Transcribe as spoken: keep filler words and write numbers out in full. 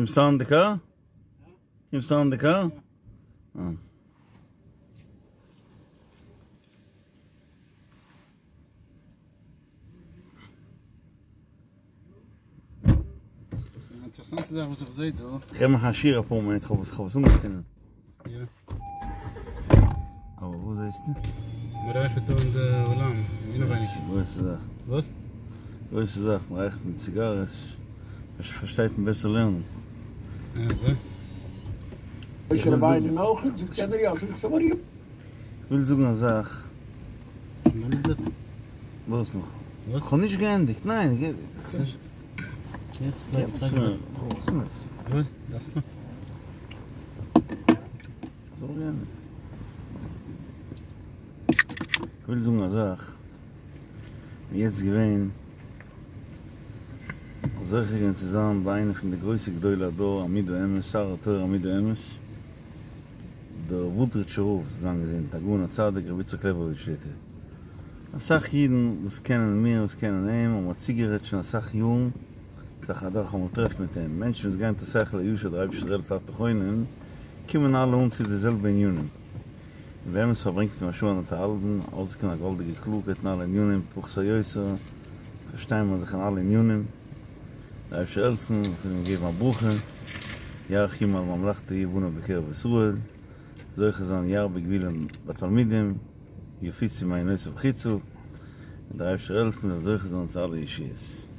קומסט אן די קאר? קומסט אן די קאר? אה. אינטערעסאנטע זאך וואס איך זעה דא. איך מאך א שיעור אפאר מינוט, כ'האב עס כ'האב עס אנגעצינדן. יא. אבער וואס זעסטו? מ'רייכערט דא אין די אולם, אינעווייניג. גרויסע זאך. וואס? גרויסע זאך, מ'רייכערט מיט ציגארעס, פארשטייט מען בעסער לערנען. אזוי? משה רבינו נאך, זאגט יענער יא, זאגט ער יא. כ'וויל זאגן א זאך. וואס נאך? כ'האב נישט געענדיגט, ניין. כ'וויל זאגן א זאך, כ'בין יעצט געווען זוכה געווען צו זיין ביי איינע פון די גרויסע גדולי הדור עמוד האמת, שר התורה עמוד האמת, דער וואודרידזשער רב זאל זיין געזונט, הגאון הצדיק רבי יצחק לעבאוויטש שליט"א. אסאך אידן וואס קענען מיר וואס קענען אים האבן מיר צוגערעדט שוין אסאך יארן זיך אדורך אמאל טרעפן מיט אים, מענטשן וואס גייען מיט א שכל הישר דער אייבערשטער העלפט אתה חונן, קומען אלע אן צו די זעלבע ענינים. און באמת פארברענגט אים א שעה אנדערטהאלבן, ארויסגעקומען א געוואלדיגע קלארקייט אין אלע ענינים, פחות או יותר פארשטייען מיר זיך אין אלע ענינים. דער אייבערשטער העלפן, איך וויל אים געבן א ברכה, יאריך ימים על ממלכתו יהיו בניו בקרב ישראל, זוכה זיין ירבה גבולים בתלמידים, יפיצו מעינותיו חוצה, און דער אייבערשטער העלפן מ'זאל זוכה זיין צו אלע ישועות.